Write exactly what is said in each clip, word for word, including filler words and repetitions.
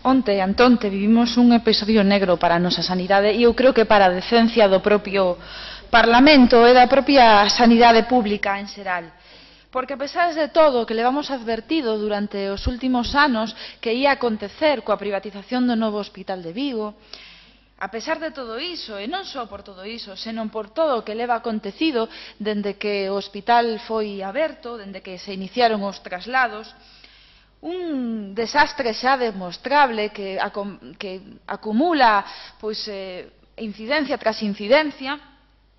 Onte, antonte, vivimos un episodio negro para a nosa sanidade e eu creo que para a decencia do propio Parlamento e da propia sanidade pública en xeral. Porque a pesar de todo o que levamos advertido durante os últimos anos que ia acontecer coa privatización do novo Hospital de Vigo, a pesar de todo iso, e non só por todo iso, senón por todo o que leva acontecido dende que o hospital foi aberto, dende que se iniciaron os traslados, un desastre xa demostrable que, que acumula pois, eh, incidencia tras incidencia,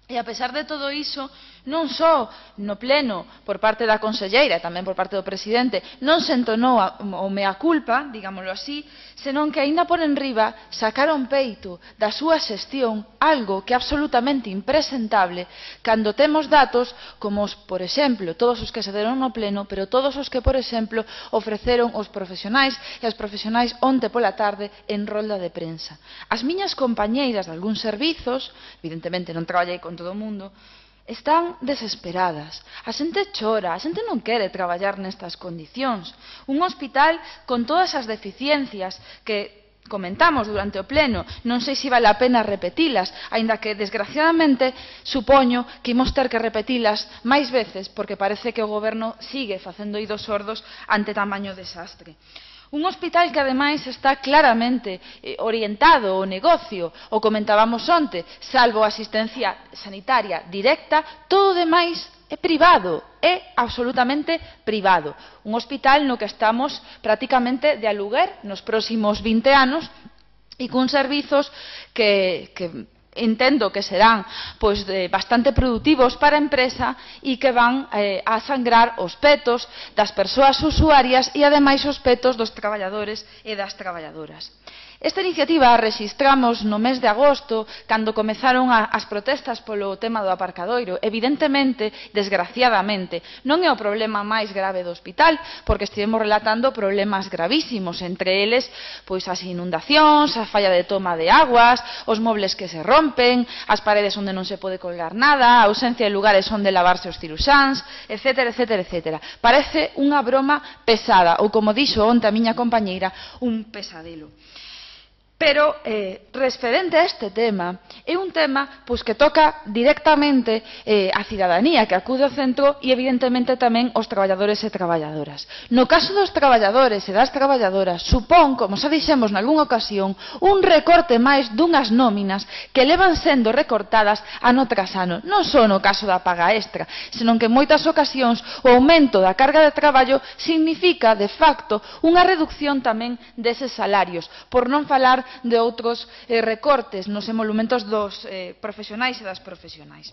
e a pesar de todo iso, non só no pleno por parte da conselleira e tamén por parte do presidente non se entonou o mea culpa, digámoslo así, senón que aínda por enriba sacaron peito da súa xestión algo que é absolutamente impresentable cando temos datos como, os, por exemplo, todos os que se deron no pleno, pero todos os que, por exemplo, ofreceron os profesionais e as profesionais onte pola tarde en rolda de prensa. As miñas compañeiras de algúns servizos, evidentemente non traballei con todo o mundo, están desesperadas, a xente chora, a xente non quere traballar nestas condicións. Un hospital con todas as deficiencias que comentamos durante o pleno, non sei se vale a pena repetilas, aínda que desgraciadamente supoño que imos ter que repetilas máis veces porque parece que o goberno sigue facendo oídos sordos ante tamaño desastre. Un hospital que ademais está claramente orientado ao negocio, o comentábamos onte, salvo a asistencia sanitaria directa, todo o demais é privado, é absolutamente privado. Un hospital no que estamos prácticamente de aluguer nos próximos vinte anos e con servizos que, que entendo que serán pois, de, bastante produtivos para a empresa e que van eh, a sangrar os petos das persoas usuarias e ademais os petos dos traballadores e das traballadoras. Esta iniciativa a rexistramos no mes de agosto, cando comezaron a, as protestas polo tema do aparcadoiro. Evidentemente, desgraciadamente, non é o problema máis grave do hospital, porque estivemos relatando problemas gravísimos, entre eles pois, as inundacións, a falla de toma de aguas, os mobles que se rompen, as paredes onde non se pode colgar nada, a ausencia de lugares onde lavarse os ciruxáns, etcétera, etcétera, etcétera. Parece unha broma pesada, ou como dixo onte a miña compañeira, un pesadelo. Pero, eh, referente a este tema, é un tema pois, que toca directamente eh, a cidadanía que acude ao centro e, evidentemente, tamén os traballadores e traballadoras. No caso dos traballadores e das traballadoras, supón, como xa dixemos nalgúnha ocasión, un recorte máis dunhas nóminas que levan sendo recortadas ano tras ano. Non só no caso da paga extra, senón que en moitas ocasións o aumento da carga de traballo significa, de facto, unha reducción tamén deses salarios, por non falar de outros eh, recortes nos emolumentos dos eh, profesionais e das profesionais.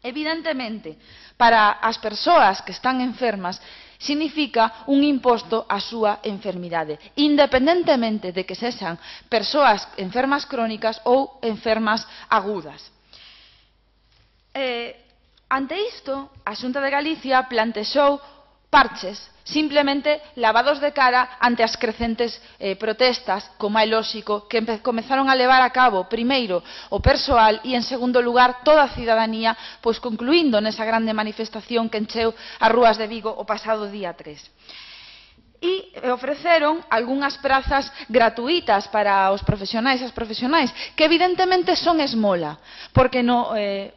Evidentemente, para as persoas que están enfermas, significa un imposto á súa enfermidade, independentemente de que sexan persoas enfermas crónicas ou enfermas agudas. Eh, ante isto, a Xunta de Galicia plantexou parches, simplemente lavados de cara ante as crecentes eh, protestas, como é lóxico, que comezaron a levar a cabo, primeiro, o persoal e, en segundo lugar, toda a cidadanía, pois concluindo nesa grande manifestación que encheu as rúas de Vigo o pasado día tres. E ofreceron algunhas prazas gratuitas para os profesionais e as profesionais, que evidentemente son esmola, porque no... Eh,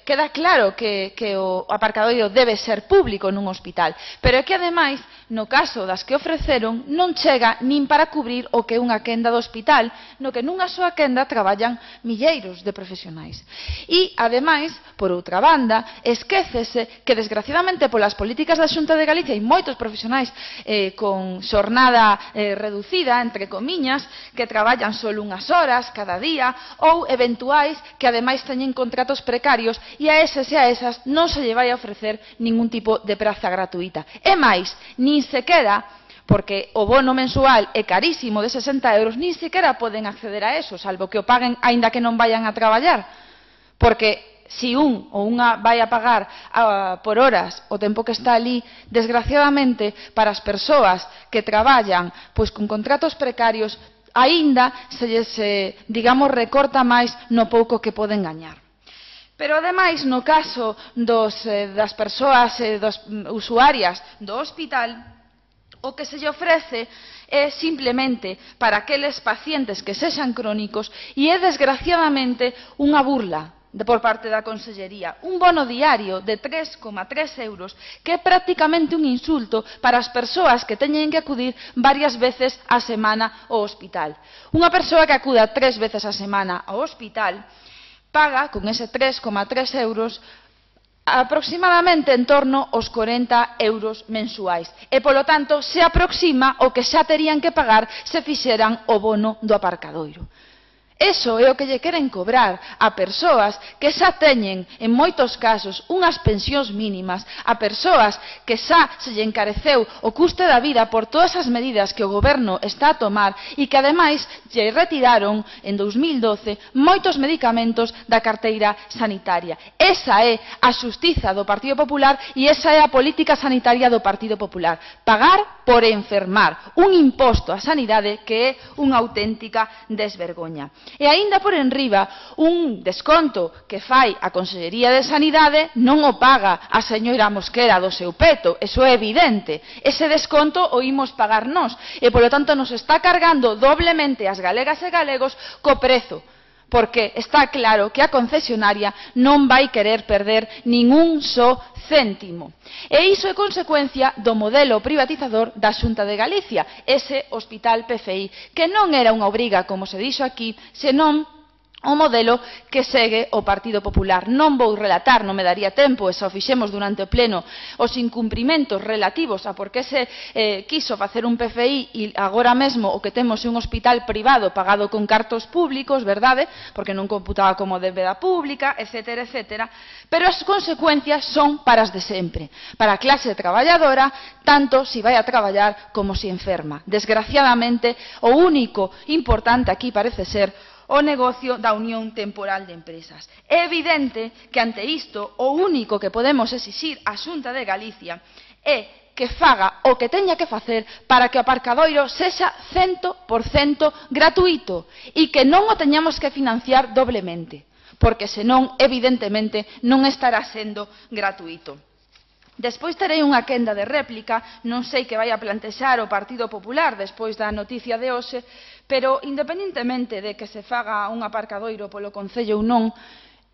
queda claro que, que o aparcadoiro debe ser público nun hospital, pero é que ademais, no caso das que ofreceron, non chega nin para cubrir o que é unha quenda do hospital, no que nunha súa quenda traballan milleiros de profesionais. E, ademais, por outra banda, esquécese que, desgraciadamente, polas políticas da Xunta de Galicia e moitos profesionais eh, con xornada eh, reducida, entre comiñas, que traballan só unhas horas cada día, ou eventuais que, ademais, teñen contratos precarios e a eses e a esas non se lle vai a ofrecer ningún tipo de praza gratuita. E máis, nin sequera, porque o bono mensual é carísimo de sesenta euros, nin sequera poden acceder a eso, salvo que o paguen aínda que non vayan a traballar. Porque si un ou unha vai a pagar uh, por horas o tempo que está ali, desgraciadamente, para as persoas que traballan pois con contratos precarios, aínda se lles, eh, digamos, recorta máis no pouco que poden gañar. Pero, ademais, no caso dos, eh, das persoas eh, dos, usuarias do hospital, o que se lle ofrece é simplemente para aqueles pacientes que sexan crónicos e é desgraciadamente unha burla por parte da Consellería. Un bono diario de tres coma tres euros que é prácticamente un insulto para as persoas que teñen que acudir varias veces á semana ao hospital. Unha persoa que acuda tres veces á semana ao hospital paga con ese tres coma tres euros aproximadamente en torno aos corenta euros mensuais e, polo tanto, se aproxima o que xa terían que pagar se fixeran o bono do aparcadoiro. Eso é o que lle queren cobrar a persoas que xa teñen, en moitos casos, unhas pensións mínimas, a persoas que xa se lle encareceu o custe da vida por todas as medidas que o goberno está a tomar e que, ademais, lle retiraron en dous mil doce moitos medicamentos da carteira sanitaria. Esa é a xustiza do Partido Popular e esa é a política sanitaria do Partido Popular. Pagar por enfermar, un imposto á sanidade que é unha auténtica desvergoña. E aínda por enriba, un desconto que fai a Consellería de Sanidade non o paga a señora Mosquera do seu peto, eso é evidente. Ese desconto o imos pagar nós e, polo tanto, nos está cargando doblemente as galegas e galegos co prezo, porque está claro que a concesionaria non vai querer perder ningún só céntimo. E iso é consecuencia do modelo privatizador da Xunta de Galicia, ese hospital P F I, que non era unha obriga, como se dixo aquí, senón o modelo que segue o Partido Popular. Non vou relatar, non me daría tempo, e xa o fixemos durante o pleno, os incumprimentos relativos a por que se eh, quiso facer un P F I e agora mesmo o que temos é un hospital privado pagado con cartos públicos, verdade? Porque non computaba como débeda pública, etcétera, etcétera. Pero as consecuencias son para as de sempre, para a clase traballadora, tanto si vai a traballar como si enferma. Desgraciadamente, o único importante aquí parece ser o negocio da unión temporal de empresas. É evidente que ante isto o único que podemos exixir á Xunta de Galicia é que faga o que teña que facer para que o aparcadoiro sexa cento por cento gratuito e que non o teñamos que financiar doblemente, porque senón, evidentemente, non estará sendo gratuito. Despois terei unha quenda de réplica, non sei que vai a plantexar o Partido Popular despois da noticia de hoxe, pero independentemente de que se faga un aparcadoiro polo Concello ou non,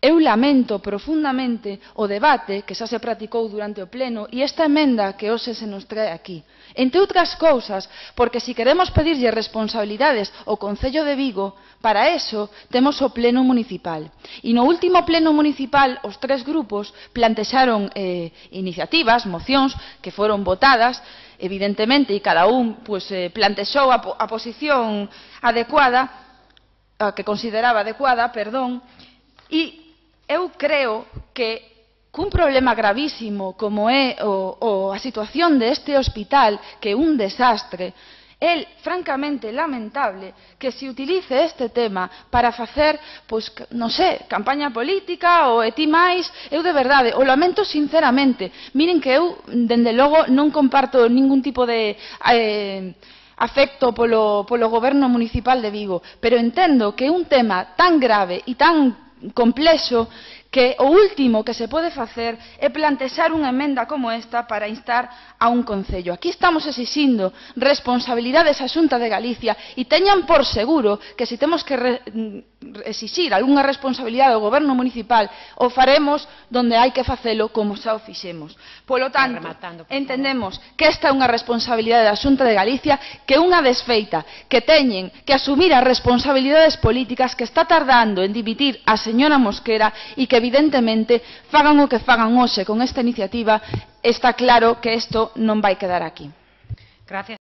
eu lamento profundamente o debate que xa se practicou durante o pleno e esta emenda que hoxe se nos trae aquí. Entre outras cousas, porque se queremos pedirlle responsabilidades ao Concello de Vigo, para eso temos o pleno municipal. E no último pleno municipal os tres grupos plantexaron eh, iniciativas, mocións, que foron votadas, evidentemente, e cada un pues, eh, plantexou a, a posición adecuada, a que consideraba adecuada, perdón, e eu creo que cun problema gravísimo como é o, o, a situación deste hospital, que é un desastre, é francamente lamentable que se utilice este tema para facer, pois, non sei, campaña política ou eti máis. Eu de verdade, o lamento sinceramente. Miren que eu, dende logo, non comparto ningún tipo de eh, afecto polo, polo goberno municipal de Vigo, pero entendo que é un tema tan grave e tan complexo que o último que se pode facer é plantexar unha emenda como esta para instar a un concello. Aquí estamos exixindo responsabilidades á Xunta de Galicia e teñan por seguro que se temos que re, exixir algunha responsabilidade ao goberno municipal o faremos donde hai que facelo como xa o fixemos. Polo tanto, entendemos que esta é unha responsabilidade da Xunta de Galicia, que é unha desfeita, que teñen que asumir as responsabilidades políticas que está tardando en dimitir a señora Mosquera e que evidentemente fagan o que fagan hoxe con esta iniciativa, está claro que isto non vai quedar aquí. Gracias.